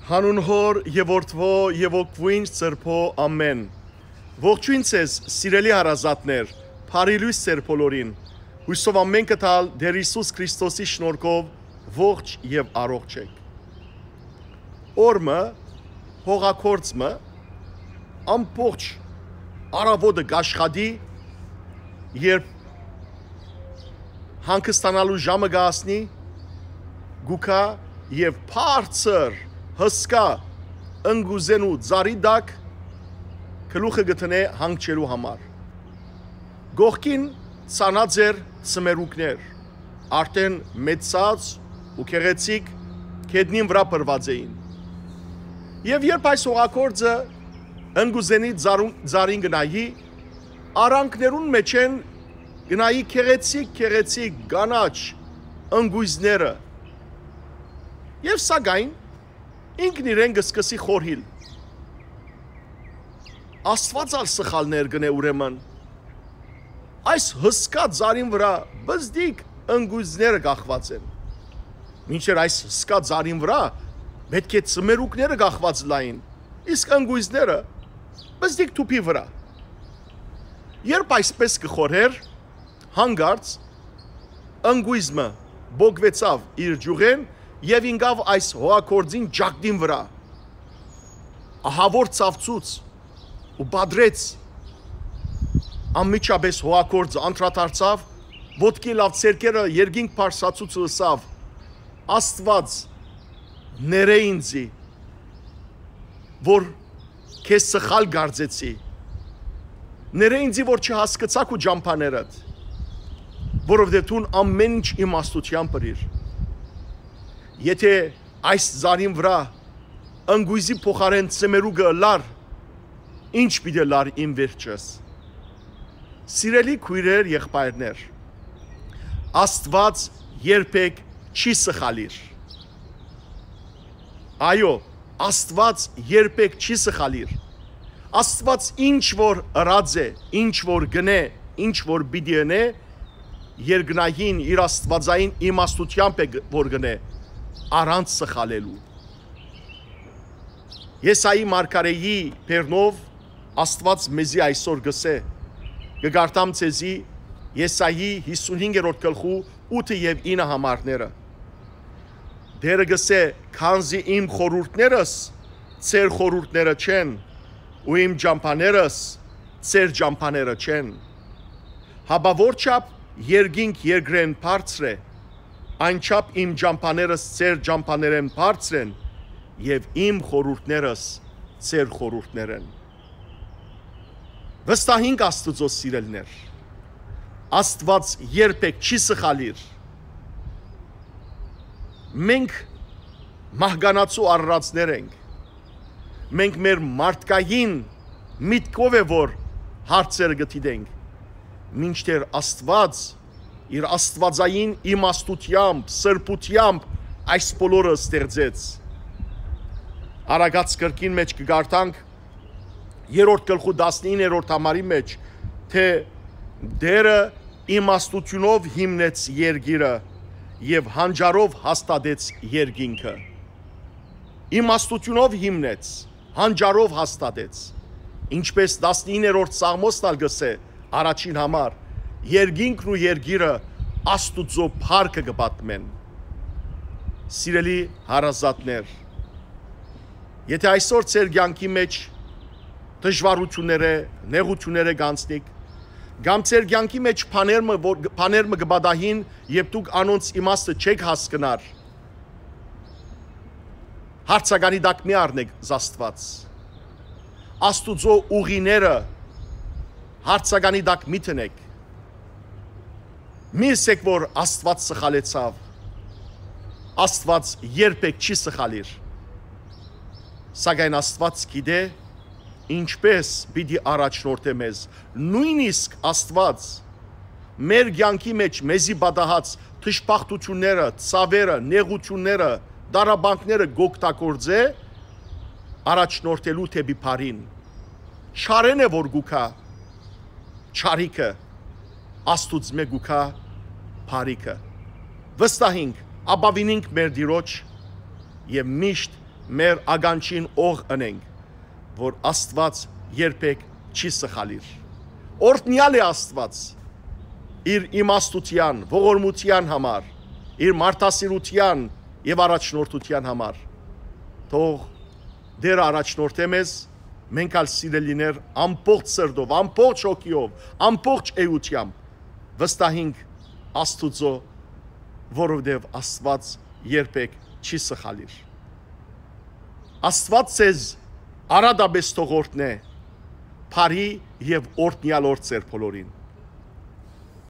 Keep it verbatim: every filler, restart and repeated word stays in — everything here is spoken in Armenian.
Հանուն հոր եւ որդվո եւ օգվույն սրբո ամեն։ Ողջույն ցեզ, սիրելի հարազատներ, բարի լույս ձեր բոլորին։ Հույսով ամեն կտալ Տեր Հիսուս Քրիստոսի շնորհքով ողջ եւ առողջ եք։ Օրը հողակորձը ամբողջ արավոտը գաշխատի, երբ հանգստանալու ժամը գասնի, գուքա եւ բարձր հսկա ընգուզենու ծառի դակ գլուխը գտնե հանգչելու համար։ Գողքին ցանաձեր ծմերուկներ, արդեն մեծած ու քեղեցիկ կեդնին վրա բրված էին։ Եվ երբ այս հողակորձը ընգուզենի ծառին գնայի, արանքներուն մեջ են գնայի քեղեցիկ քեղեցիկ կանաչ ընգույզները։ Եվ սակայն ինքն իրեն կսկսի խորհիլ։ Աստված ալ սխալներ գնե ուրեմն։ Այս հսկա ծառին վրա բզդիկ ընգույզները կախված են։ Մինչև այս հսկա ծառին վրա պետք է ծմերուկները կախված լային, իսկ ընգույզները բզդիկ թուփի վրա։ Երբ այսպես կխորհեր, հանգարց ընգույզը բոգվեցավ իր ջուղեն եւ ինգավ այս հողակորձին ջակդին վրա, ահավոր ծավծուց ու բադրեց, անմիջապես հողակորձը անդրադարձավ, ոտքի լավ ցերկերը երկինք փարսացուց լսավ, Աստված ները ինձի, որ քեզ սխալ գարձեցի, ները ինձի, որ չհասկացաք ու ջամփաներդ, որովհետև դու ամեն ինչ իմաստությամբ բրիր։ Եթե այս ծառին վրա ընգույզի փոխարեն ծմերուկը լար, ինչ պիտի լար իմ վերջս։ Սիրելի քույրեր, եղբայրներ, Աստված երբեք չի սխալիր։ Այո, Աստված երբեք չի սխալիր։ Աստված ինչ որ ըրած է, ինչ որ գնե, ինչ որ պիտի անե, երկնային իր աստվածային իմաստությամբ է որ գնե, առանց սխալելու։ Եսայի մարգարեի բերնով Աստված մեզի այսօր գսե, կգարտամ ցեզի Եսայի հիսունհինգերորդ գլխու ութ եւ ինը համարները։ Դերը գսե, քանզի իմ խորհուրդներս ծեր խորհուրդները չեն, ու իմ ջամփաներս ծեր ջամփաները չեն։ Հաբավոր չափ երկինք երկրեն բարձր է, այնչափ իմ ջամփաներս ծեր ջամփաներեն բարձր են, եւ իմ խորհուրդներս ծեր խորհուրդներ են։ Վստահինք Աստծո սիրելիներ, Աստված երբեք չի սխալիր։ Մենք մահկանացու արարածներ ենք։ Մենք մեր մարդկային միտքով է որ հարցերը գտիդենք, մինչդեռ Աստված իր աստվածային իմաստությամբ, սրբությամբ այս բոլորը ստեղծեց։ Արագած կրկին մեջ կգարտանք երրորդ գլխու տասնիններորդ համարի մեջ, թե Տերը իմաստությունով հիմնեց երկիրը եւ հանճարով հաստատեց երկինքը։ Իմաստությունով հիմնեց, հանճարով հաստատեց, ինչպես տասնիններորդ Սաղմոսն ալ գսե առաջին համար, երկինքն ու երկիրը Աստուծո փառքը կպատմեն։ Սիրելի հարազատներ, եթե այսօր ձեր կյանքի մեջ դժվարությունները, նեղությունները գանցնիք, կամ ձեր կյանքի մեջ բաները կբադահին, եւ դուք անոնց իմաստը չեք հասկնար, հարցականի տակ մի առնեք Աստված։ Աստուծո ուղիները հարցականի տակ մի տնեք։ Մի ասեք, որ Աստված սխալեցավ։ Աստված երբեք չի սխալիր։ Սակայն Աստված գիտե ինչպես պիտի առաջնորդե մեզ։ Նույնիսկ Աստված մեր կյանքի մեջ մեզի պատահած թշփախտությունները, ցավերը, նեղությունները, դարաբանքները գոկտակորձե առաջնորդելու թեպի բարին։ Չարեն է որ գուքա, չարիքը Աստուծո մե գուքա բարիքը։ Վստահինք, ապավինինք մեր Տիրոջ եւ միշտ մեր ագանչին օղ ընենք, որ Աստված երբեք չի սխալիր։ Օրհնյալ է Աստված իր իմաստության, ողորմության համար, իր մարդասիրության եւ առաջնորդության համար։ Թող դեր առաջնորդե մեզ, մենք ալ սիրելիներ ամբողջ սրտով, ամբողջ հոգիով, ամբողջ էությամբ վստահենք Աստուծո, որովհետև Աստված երբեք չի սխալիր։ Աստված ձեզ արադաբես թողորտնե, բարի եւ օրհնյալ օր ձեր բոլորին։